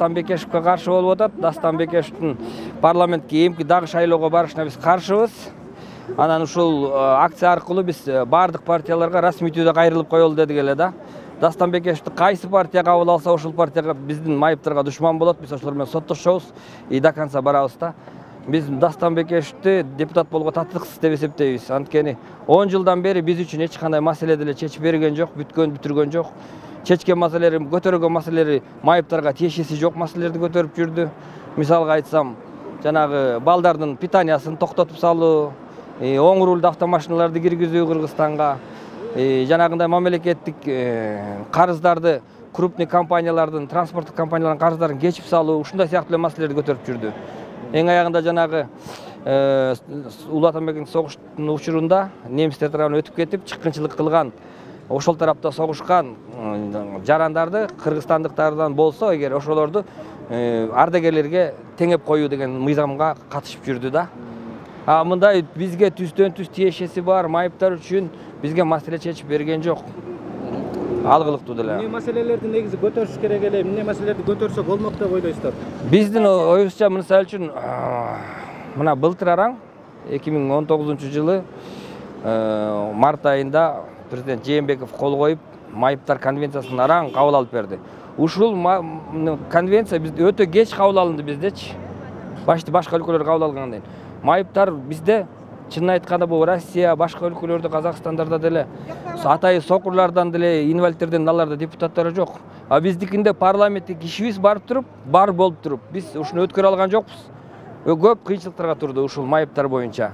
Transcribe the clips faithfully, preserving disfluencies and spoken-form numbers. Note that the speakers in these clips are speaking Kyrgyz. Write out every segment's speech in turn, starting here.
Дастан Бекешевке каршы болуп атат. Дастан Бекешевдин парламентке эмки дагы шайлоого барышына биз каршыбыз. Анан ушул акция аркылуу биз бардык партияларга расмий түрдө кайрылып коелу дедик эле да. Дастан Бекешевди кайсы партия кабыл алса, ошол партияга биздин майыптарга душман болот. Биз ошолор менен соттошобуз и до конца барабыз да. Биз Дастан Бекешевди депутат болууга татыктыксыз деп эсептейбиз. Анткени он жылдан бери биз үчүн эч кандай маселе деле чечип берген жок, бүткөн бүтүргөн жок. Чечкен маселелери, көтөргөн маселелери майыптарга тиешеси жок маселелерди көтөрүп жүрдү. Мисалга айтсам, жанагы балдардын питаниясын токтотуп салуу, оң рулду автомашиналарды киргизүү Кыргызстанга, жанагындай мамлекеттик карыздарды, крупный компаниялардын, транспорттук компаниялардын карыздарын кечип салуу, ушундай сыяктуу маселелерди көтөрүп жүрдү. Эң аягында жанагы Улуу Атамбектин согуштун учурунда немистер тарабынан өтүп кетип, чыккынчылык кылган, ошол тарапта согушкан жарандарды кыргызстандыктардан болсо, эгер ошолорду ардагерлерге теңеп коюу деген мыйзамга катышып жүрдү да. А мындай бизге түздөн түз тиешеси бар майыптар үчүн бизге маселе чечип берген жок. Алгылыктуу деле. Эмне маселелерди негизи көтөрүш керек эле, эмне маселелерди көтөрсөк болмок деп ойлойсуздар? Биздин оюбузча мисалы үчүн мына былтыр араң эки миң он тогузунчу жылы март айында президент Жээнбеков кол коюп, майыптар конвенциясын араң кабыл алып берди. Ушул конвенция бизде өтө кеч кабыл алынды биздечи. Башты башка өлкөлөр кабыл алгандан кийин. Майыптар бизде чынын айтканда бул Россия, башка өлкөлөрдө, Казакстандарда деле атайы сокурлардан деле, инвалидтерден аларда депутаттары жок. А биздикинде парламенттик ишибиз барып туруп, бар болуп туруп, биз ушуну өткөрө алган жокпуз. Көп кыйынчылыктарга турду ушул майыптар боюнча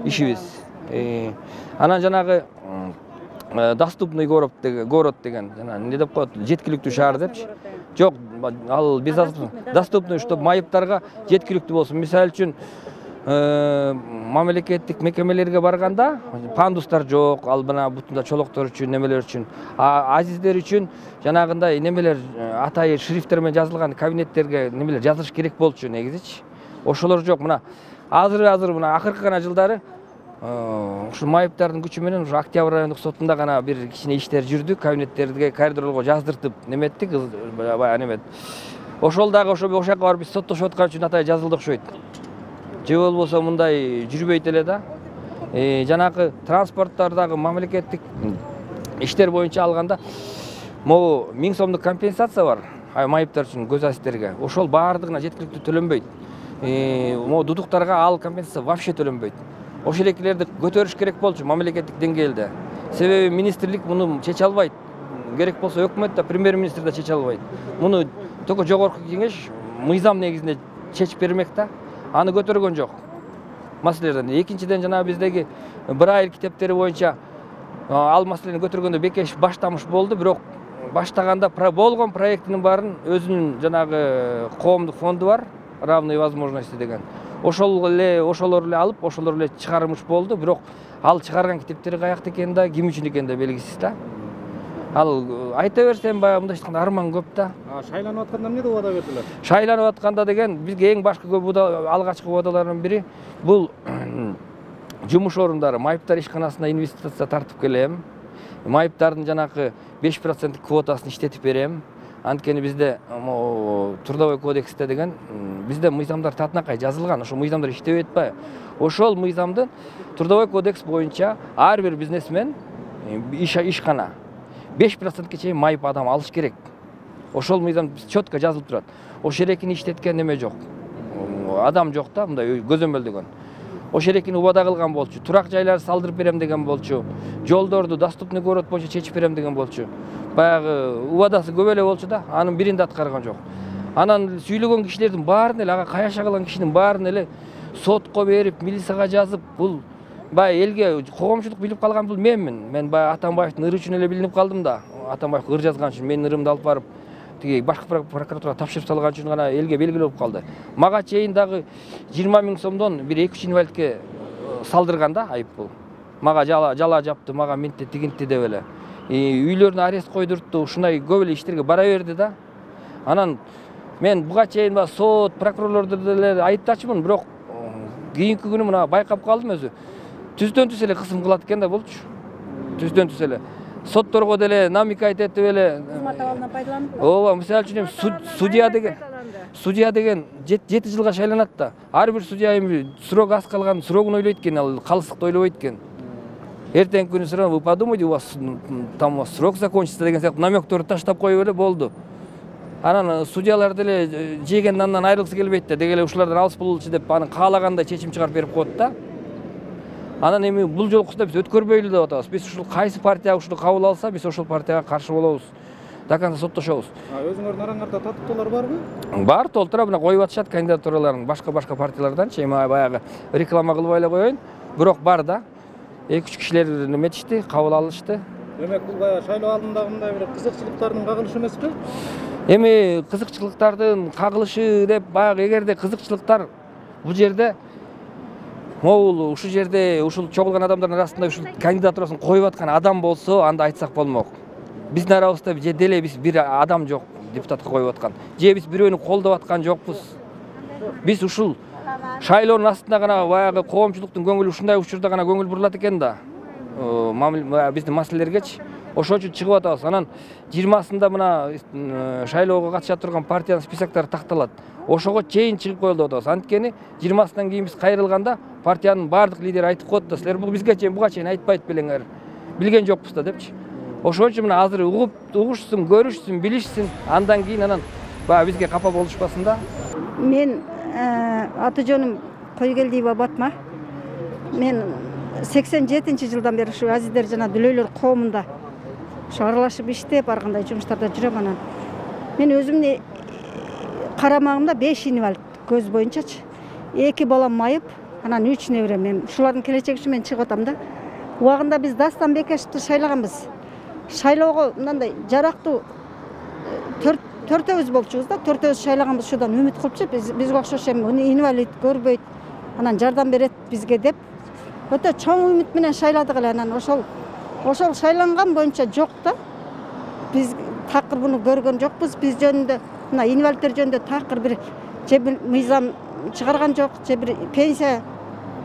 ишибиз. Анан жанагы доступный город деген, город деген, жана эмне деп коет, жеткиликтүү шаар депчи. Жок, ал биз доступный, чтобы майыптарга жеткиликтүү болсун. Мисалы үчүн мамлекеттик мекемелерге барганда пандустар жок, ал мына бутунда чолоктор үчүн, немелер үчүн, а азиздер үчүн жанагындай немелер атайы шрифттер менен жазылган кабинеттерге немелер жазылыш керек болчу негизичи. Ошолор жок. Мына азыр азыр мына акыркы гана жылдары ушул майыптардын күчү менен ушу Октябрь райондук сотунда гана бир кичине иштер жүрдү, кабинеттерге, коридорлорго жаздыртып неметтик, баягы немет. Ошол дагы ошо ошол жака барып биз соттошуп аткан үчүн атайы жазылды окшойт. Же болбосо мындай жүрбөйт эле да. Жанагы транспорттардагы мамлекеттик иштер боюнча алганда могу миң сомдук компенсация бар майыптар үчүн, көз азиздерге. Ошол баардыгына жеткиликтүү төлөнбөйт. Могу дудуктарга ал компенсация вообще төлөнбөйт. Ошол экилерди көтөрүш керек болчу мамлекеттик деңгээлде. Себеби министрлик муну чече албайт. Керек болсо өкмөт да, премьер-министр да чече албайт. Муну только жогорку кеңеш мыйзам негизинде чечип бермек да. Аны көтөргөн жок. Маселелерден. Экинчиден жана биздеги Брайль китептери боюнча ал маселени көтөргөндө Бекешев баштамыш болду, бирок баштаганда болгон проектинин баарын өзүнүн жанагы коомдук фонду бар, равные возможности деген. Ошол эле ошолор эле алып, ошолор эле чыгармыш болду, бирок ал чыгарган китептери каякта экени да, ким үчүн экени да белгисиз да. Ал айта берсем баягы мындай айтканда арман көп да. Шайланып атканда эмне деп убада бердилер? Шайланып атканда деген бизге эң башкы көп алгачкы убадалардын бири бул жумуш орундары, майыптар ишканасына инвестиция тартып келем. Майыптардын жанагы беш проценттик квотасын иштетип берем. Анткени бизде трудовой кодексте деген бизде мыйзамдар татынакай жазылган, ошол мыйзамдар иштебей атпайбы? Ошол мыйзамдын трудовой кодекс боюнча ар бир бизнесмен ишкана беш процентке чейин майып адам алыш керек. Ошол мыйзам четко жазылып турат. Ошол эрекини иштеткен неме жок. Адам жок да, мындай көзөмөлдөгөн. Ошол эрекини убада кылган болчу. Турак жайларды салдырып берем деген болчу. Жолдорду доступный город боюнча чечип берем деген болчу. Баягы убадасы көп эле болчу да, анын бирин да аткарган жок. Анан сүйлөгөн кишилердин баарын эле, ага каяша кылган кишинин баарын эле сотко берип, милицияга жазып, бул баягы элге коомчулук билип калган бул менмин. Мен баягы Атамбаевдин ыры үчүн эле билинип калдым да. Атамбаев ыр жазган үчүн менин ырымды алып барып тиги башкы прокуратурага тапшырып салган үчүн гана элге белгилүү болуп калды. Мага чейин дагы жыйырма миң сомдон бир эки үч инвалидке салдырган да айыппул. Мага жала жала жапты, мага минтти тигинтти деп эле. Үйлөрүнө арест койдуртту, ушундай көп эле иштерге бара берди да. Анан мен буга чейин сот, прокурорлорду деле айыптачумун, бирок кийинки күнү мына байкап калдым өзү. Түздөн түз эле кысым кылат экен да болчу. Түздөн түз эле. Сотторго деле намекать этип эле. Кызмат абалынан пайдаланып. Ооба, мисалы үчүн судья деген. судья деген жети жылга шайланат да. Ар бир судья эми срок аз калган срогун ойлойт экен, ал калыстыкты ойлобойт экен. Эртеңки күнү сразу вы подумайте, у вас там срок закончится деген сыяктуу намёктөрдү таштап коюп эле болду. Анан судьялар деле жеген нандан айрылгысы келбейт да, деги эле ушулардан алыс болчу деп анын каалагандай чечим чыгарып берип коет да. Анан эми бул жолкусу биз өткөрбөйлү деп атабыз. Биз ушул кайсы партия ушуну кабыл алса, биз ошол партияга каршы болобуз. До конца соттошобуз. Өзүңөрдүн араңарда татыктуулар барбы? Бар, толтура мына коюп атышат кандидатураларын башка-башка партияларданчы. Эми баягы реклама кылбай эле коеюн. Бирок бар да. эки үч кишилер неметишти, кабыл алышты. Демек бул баягы шайлоо алдында мындай бир кызыкчылыктардын кагылышы эмеспи? Эми кызыкчылыктардын кагылышы деп баягы эгерде кызыкчылыктар бул жерде могул ушул жерде ушул чогулган адамдардын арасында ушул кандидатурасын коюп аткан адам болсо, анда айтсак болмок. Биздин арабызда же деле биз бир адам жок депутатка коюп аткан. Же биз бирөөнү колдоп аткан жокпуз. Биз ушул шайлоонун астында гана баягы коомчулуктун көңүлү ушундай учурда гана көңүл бурулат экен да. Биздин маселелергечи. Ошол үчүн чыгып атабыз. Анан жыйырмасында мына шайлоого катыша турган партиянын списоктору такталат. Ошого чейин чыгып коелу деп атабыз. Анткени жыйырмасынан кийин биз кайрылганда партиянын бардык лидери айтып коет да, силер бул бизге чейин буга чейин айтпайт белеңер. Билген жокпуз да депчи. Ошол үчүн мына азыр угуп, угушсун, көрүшсүн, билишсин, андан кийин анан баягы бизге капа болушпасын да. Мен аты жөнүм Койгелдиева Батма. Мен сексен жетинчи жылдан бери ушу Азиздер жана Дүлөйлөр коомунда ушу аралашып иштеп, ар кандай жумуштарда жүрөм. Анан мен өзүмдүн карамагымда беш инвалид көз боюнчачы. эки балам майып, анан үч неберем. Мен ушулардын келечеги үчүн мен чыгып атам да. Убагында биз Дастан Бекешевди шайлаганбыз. Шайлоого мындай жарактуу төртөөбүз болчубуз да, төртөөбүз шайлаганбыз, ушудан үмүт кылыпчы. Биз бизге окшош эми инвалид көрбөйт, анан жардам берет бизге деп өтө чоң үмүт менен шайладык эле. Анан ошол ошол шайланган боюнча жок да. Биз такыр буну көргөн жокпуз. Биз жөнүндө мына инвалидтер жөнүндө такыр бир же бир мыйзам чыгарган жок, же бир пенсия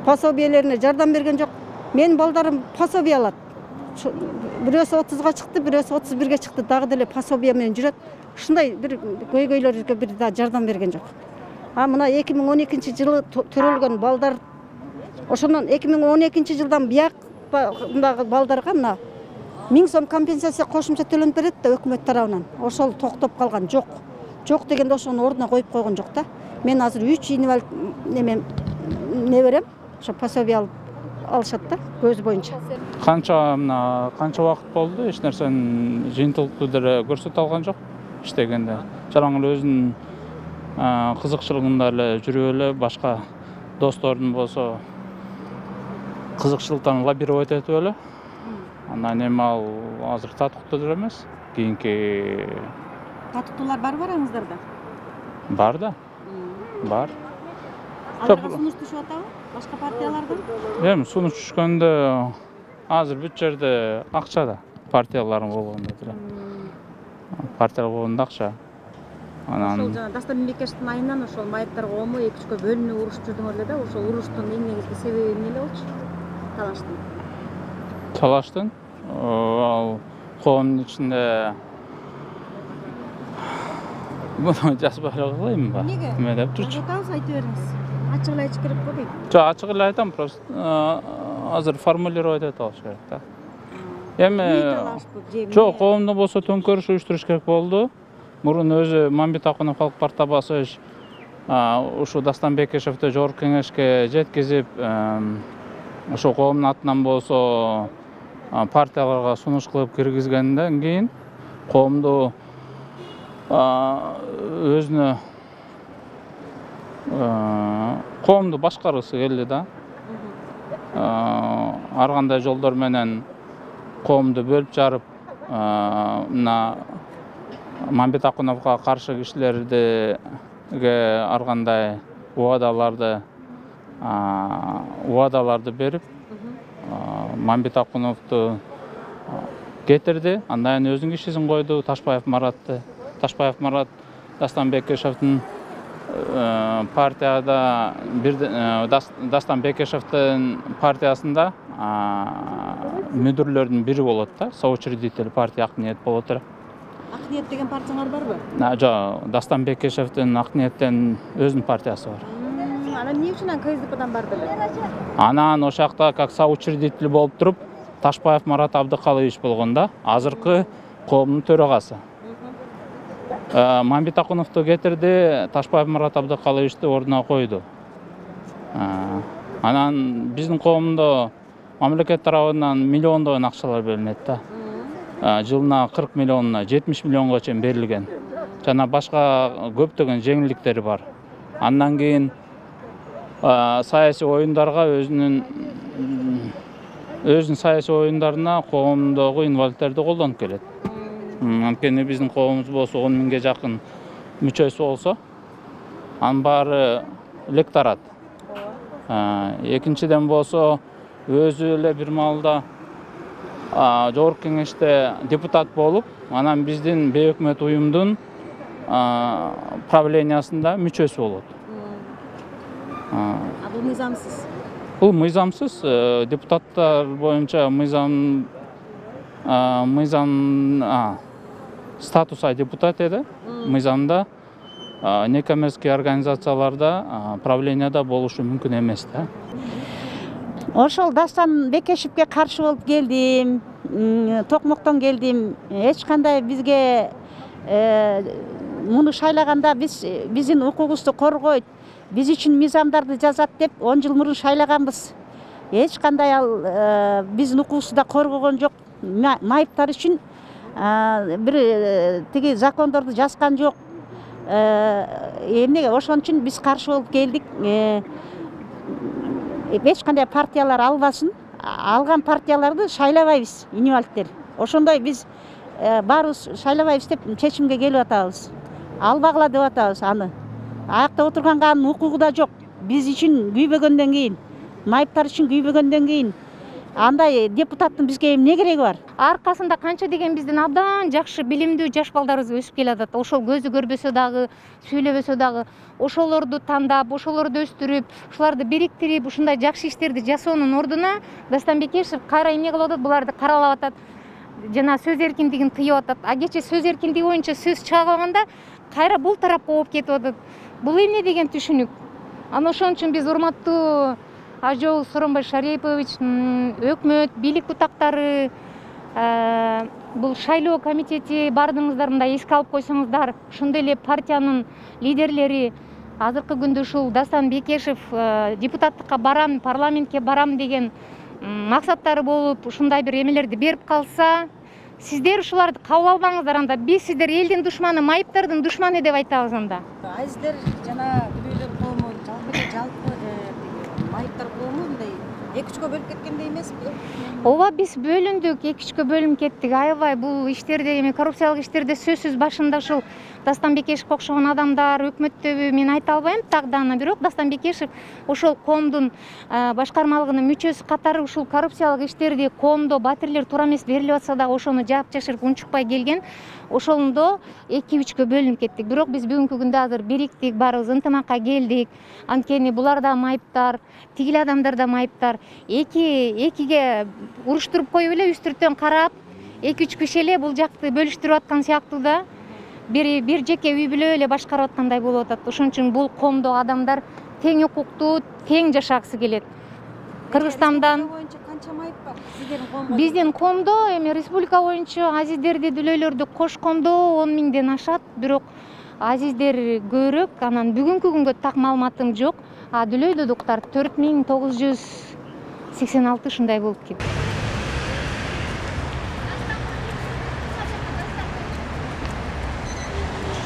пособиелерине жардам берген жок. Менин балдарым пособие алат. Бирөөсү отузга чыкты, бирөөсү отуз бирге чыкты, дагы деле пособие менен жүрөт. Ушундай бир көйгөйлөргө бир да жардам берген жок. А мына эки миң он экинчи жылы төрөлгөн балдар, ошондон эки миң он экинчи жылдан бияк мындагы балдарга мына миң сом компенсация кошумча төлөнүп берет да өкмөт тарабынан. Ошол токтоп калган жок. Жок дегенде ошонун ордуна коюп койгон жок да. Мен азыр үч инвалид неме не берем, ошо пособие алып алышат да көз боюнча. Канча мына канча убакыт болду, эч нерсенин жыйынтыктуу деле көрсөтө алган жок иштегенде. Жалаң эле өзүнүн кызыкчылыгында эле жүрүп эле, башка достордун болсо кызыкчылыктарын лоббировать этип эле. Анан эми ал азыр татыктуу деле эмес. Кийинки Татыктуулар бар бараңыздарда? Бар да. Бар. Аларга сунуш түшүп атабы? Башка партиялардан? Эми сунуш түшкөндө азыр бүт жерде акча да. Партиялардын болгондо деле. Партиялар болгондо акча. Анан ошол жана Дастан Бекешевдин айынан ошол майыптар коому эки үчкө бөлүнүп урушуп жүрдүңөр эле да. Ошол уруштун эң негизги себеби эмне эле болчу? Талаштын. Талаштын ал коомдун ичинде муну жазбай эле коелуймбу? Эмнеге? Эме деп турчу. Атабыз айтып бериңиз. Ачык эле айтыш керек го дейм. Жок, ачык эле айтам, просто азыр формулировать этип алыш керек да. Эми жок, коомдо болсо төңкөрүш уюштуруш керек болду. Мурун өзү Мамбет Акунов Халык партия басыш ушу Дастан Бекешевди жогорку кеңешке жеткизип, ошо коомдун атынан болсо партияларга сунуш кылып киргизгенден кийин коомду өзүнө коомду башкаргысы келди да. Ар кандай жолдор менен коомду бөлүп жарып, мына Мамбет Акуновго каршы кишилерге ар кандай убадаларды убадаларды берип, Мамбет Акуновду кетирди. Андан кийин өзүнүн кишисин койду, Ташбаев Маратты. Ташбаев Марат Дастан Бекешевдин партияда бир Дастан Бекешевдин партиясында мүдүрлөрдүн бири болот да, соучредитель партия ак ниет болот эле. Ак ниет деген партияңар барбы? Жок, Дастан Бекешевдин Ак ниеттен өзүнүн партиясы бар. Анан эмне үчүн ка эс дэ пэдан барды эле? Анан ошол жакта как соучредитель болуп туруп, Ташбаев Марат Абдыкалыевич болгондо, азыркы коомдун төрагасы. Мамбет Акуновду кетирди, Ташбаев Марат Абдыкалыевичти ордуна койду. Анан биздин коомдо мамлекет тарабынан миллиондогон акчалар бөлүнөт да. Жылына кырк миллионуна, жетимиш миллионго чейин берилген. Жана башка көптөгөн жеңилдиктери бар. Андан кийин саясий оюндарга өзүнүн өзүнүн саясий оюндарына коомдогу инвалидтерди колдонуп келет. Анткени биздин коомубуз болсо он миңге жакын мүчөсү болсо, анын баары электорат. Экинчиден болсо, өзү эле бир маалда жогорку кеңеште депутат болуп, анан биздин бейөкмөт уюмдун правлениясында мүчөсү болот. А бул мыйзамсыз? Бул мыйзамсыз. Депутаттар боюнча мыйзам мыйзам статуса депутат эди. Мыйзамда некоммерческий организацияларда правленияда болушу мүмкүн эмес да. Ошол Дастан Бекешевге каршы болуп келдим, Токмоктон келдим. Эч кандай бизге муну шайлаганда биз биздин укугубузду коргойт, биз үчүн мыйзамдарды жазат деп он жыл мурун шайлаганбыз. Эч кандай ал биздин укугубузду да коргогон жок. Майыптар үчүн бир тиги закондорду жазган жок. Эмнеге ошон үчүн биз каршы болуп келдик. Эч кандай партиялар албасын. Алган партияларды шайлабайбыз, инвалидтер. Ошондой биз баарыбыз шайлабайбыз деп чечимге келип атабыз. Албагыла деп атабыз аны. Аякта отурганга анын укугу да жок. Биз үчүн күйбөгөндөн кийин, майыптар үчүн күйбөгөндөн кийин андай депутаттын бизге эмне кереги бар? Аркасында канча деген биздин абдан жакшы билимдүү жаш балдарыбыз өсүп келатат. Ошол көзү көрбөсө дагы, сүйлөбөсө дагы ошолорду тандап, ошолорду өстүрүп, ушуларды бириктирип, ушундай жакшы иштерди жасоонун ордуна Дастан Бекешев кайра эмне кылып атат? Буларды каралап атат. Жана сөз эркиндигин тыйып атат. А кечээ сөз эркиндиги боюнча сөз чыга калганда кайра бул тарапка ооп кетип атат. Бул эмне деген түшүнүк? Анан ошон үчүн биз урматтуу Ажол Сооронбай Шарипович, өкмөт, бийлик бутактары, бул шайлоо комитети бардыңыздар, мындай эске алып койсоңуздар, ошондой эле партиянын лидерлери азыркы күндө ушул Дастан Бекешев депутаттыкка барам, парламентке барам деген максаттары болуп, ушундай бир эмелерди берип калса, сиздер ушуларды кабыл албаңыздар, анда биз сиздер элдин душманы, майыптардын душманы деп айтабыз анда. Азиздер жана Дүлөйлөр коому жалпы жалпы майыптар коому мындай эки үчкө бөлүп кеткендей эмеспи? Ооба, биз бөлүндүк, эки үчкө бөлүнүп кеттик. Аябай бул иштерде, эми коррупциялык иштерде сөзсүз башында ушул Дастан Бекешевге окшогон адамдар, өкмөттөбү мен айта албайм тагдана, бирок Дастан Бекешев ошол коомдун башкармалыгынын мүчөсү катары ушул коррупциялык иштерди коомдо батирлер туура эмес берилип атса дагы ошону жаап жашырып унчукпай келген. Ошондо эки үчкө бөлүнүп кеттик. Бирок биз бүгүнкү күндө азыр бириктик, баарыбыз ынтымакка келдик. Анткени булар да майыптар, тигил адамдар да майыптар. Эки экиге уруштуруп коюп эле үстүртөн карап, эки үч киши эле бул жакты бөлүштүрүп аткан сыяктуу да. Бир бир жеке үй бүлө эле башкарып аткандай болуп атат. Ошон үчүн бул коомдогу адамдар тең укуктуу, тең жашагысы келет. Кыргызстандан канча майып бар? Сиздердин коомдо? Биздин коомдо эми республика боюнча азиздерди, дүлөйлөрдү кошкондо он миңден ашат, бирок азиздер көбүрөөк. Анан бүгүнкү күнгө так маалыматым жок. А дүлөйдүктар төрт миң тогуз жүз сексен алты ушундай болуп кетти.